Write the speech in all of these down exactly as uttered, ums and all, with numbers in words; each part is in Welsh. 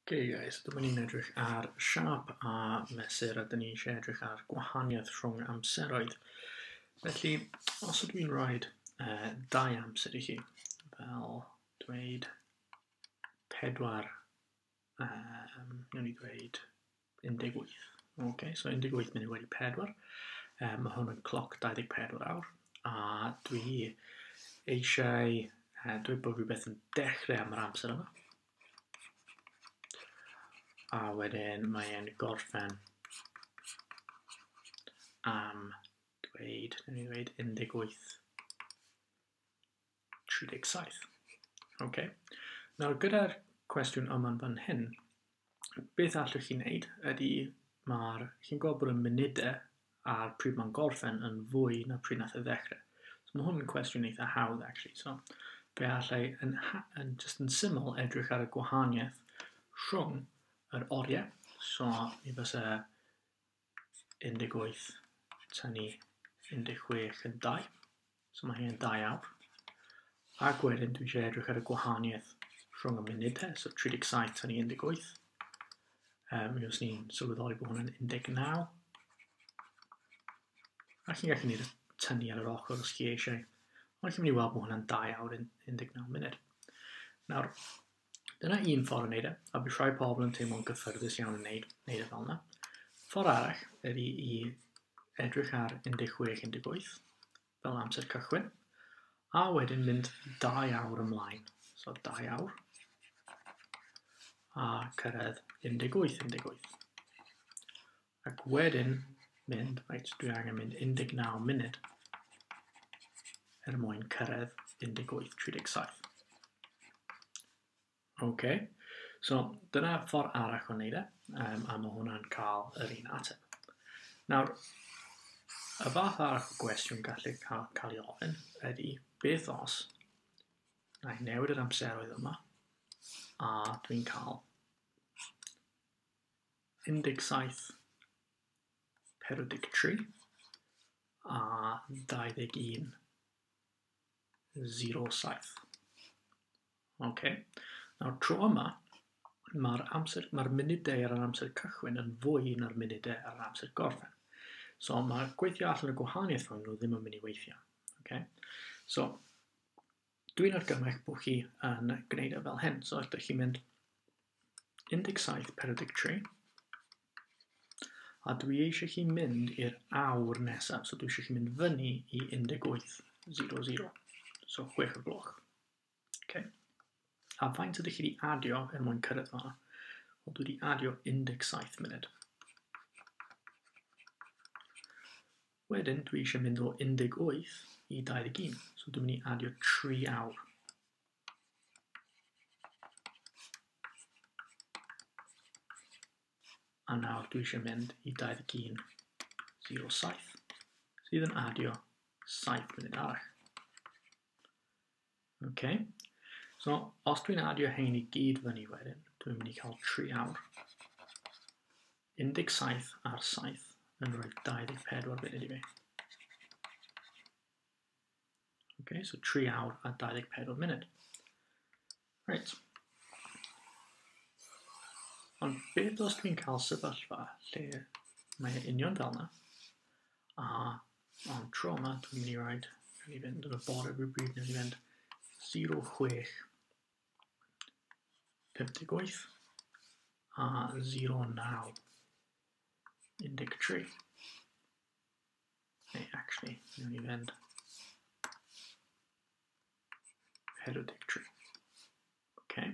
Okay guys, dyma ni'n edrych ar siâp a mesur, a dyn ni eisiau edrych ar gwahaniaeth rhwng amseroedd. Felly, os ydw i'n rhoi uh, dau amser i chi, fel dweud pedwar, um, wnawn ni dweud un deg wyth. Okay, so un deg wyth munud wedi pedwar. Um, mae hwn yn cloc dau ddeg pedwar awr, a dwi eisiau uh, dweud bod rhywbeth yn dechrau am yr amser yma. A wedyn mae'n gorffen am dweud, wnawn ni ddweud un deg wyth tri deg saith. Okay. Nawr gyda'r cwestiwn yma'n fan hyn, beth allwch chi wneud ydy mae'r, chi'n gweld bod y munudau a'r pryd mae'n gorffen yn fwy na pryd nath e ddechrau. So mae hwn yn cwestiwn eitha hawdd actually. So fe allai yn, yn just yn syml edrych ar y gwahaniaeth rhwng yr oriau. So mi fysa un deg wyth tynnu un deg chwech yn dau. So mae hyn yn dau awr. Ac wedyn dwi eisiau edrych ar y gwahaniaeth rhwng y munudau, so tri deg saith tynnu un deg wyth. Um, mi os ni'n sylweddoli bod hwn yn un deg naw. A chi'n gallu gwneud y tynnu ar yr ochr os chi eisiau. Ond chi'n mynd i weld bod hwnna'n dau awr un deg naw munud. Nawr, dyna un ffordd o wneud e, a bydd rhai pobl yn teimlo'n gyffyrddus iawn yn wneud, wneud e fel yna. Ffordd arall ydy i edrych ar un deg chwech un deg wyth fel amser cychwyn, a wedyn mynd dau awr ymlaen. So dau awr, a cyrraedd un deg wyth un deg wyth. Ac wedyn mynd, reit, dwi angen mynd un deg naw munud er mwyn cyrraedd un deg wyth tri deg saith. OK, so dyna ffordd arall o wneud e, um, a mae hwnna'n cael yr un ateb. Nawr, y fath arall o gwestiwn gallu cael, cael ei ofyn ydy, beth os na i newid yr amseroedd yma, a dwi'n cael un deg saith pedwar deg tri a dau ddeg un zero saith. OK. Nawr, tro yma, mae'r amser, mae'r munudau ar yr amser cychwyn yn fwy na'r munudau ar yr amser gorffen. So mae gweithio allan y gwahaniaeth rhwng nhw ddim yn mynd i weithio. Okay? So, dwi'n argymell bod chi yn gwneud e fel hyn. So, ydych chi'n mynd un deg saith pedwar deg tri, a dwi eisiau chi mynd i'r awr nesaf. So, dwi eisiau chi mynd fyny i un deg wyth zero zero. So, chwech o'r gloch. Okay. A faint ydych chi wedi adio er mwyn cyrraedd fan'na? Wel, dwi wedi adio un deg saith munud. Wedyn, dwi eisiau mynd o un deg wyth i dau ddeg un. So dwi'n mynd i adio tri awr. A nawr dwi eisiau mynd i dau ddeg un zero saith, sydd yn adio saith munud arall. Okay. So, os dwi'n adio hein i gyd fyny wedyn, dwi'n mynd i cael tri awr. un deg saith ar saith yn rhoi dau ddeg pedwar munud i fi. Okay, so tri awr a dau ddeg pedwar munud. Right. Ond beth os dwi'n cael sefyllfa lle mae e union fel yna, a ond tro yma dwi'n mynd i rhaid, dwi'n mynd i fynd yn y bore rhywbryd, dwi'n mynd i fynd zero chwech pump deg wyth a zero naw un deg tri. Neu, actually, dwi'n mynd i fynd pedwar deg tri. Okay.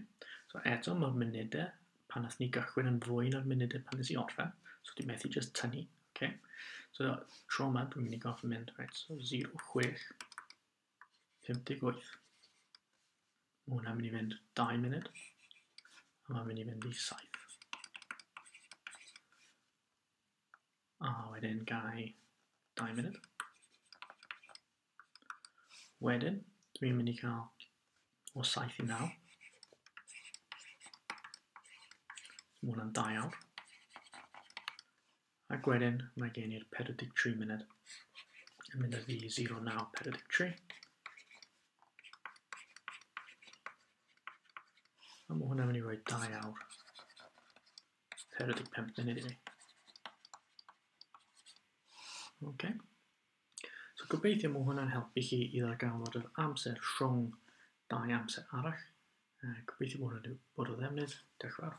So eto mae'r munudau pan nath ni gychwyn yn fwy na'r munudau pan nes i orffen, so dwi'n methu just tynnu. Okay. So tro yma dwi'n mynd i gorffen mynd, right, so zero chwech pump deg wyth. Mae hwnna'n mynd i fynd dau munud, a mae'n mynd i fynd i saith. A wedyn gai dau munud. Wedyn, dwi'n mynd i cael o saith i naw. Mae hwnna'n dau awr. Ac wedyn, mae gen i'r pedwar deg tri munud yn mynd â fi zero naw pedwar deg tri. A mae hwnna'n mynd i roi dau awr pedwar deg pump munud i fi. Okay. So gobeithio mae hwnna'n helpu chi i ddarganfod yr amser rhwng dau amser arall. Uh, gobeithio bod hwnna'n bod o ddefnydd. Diolch yn fawr.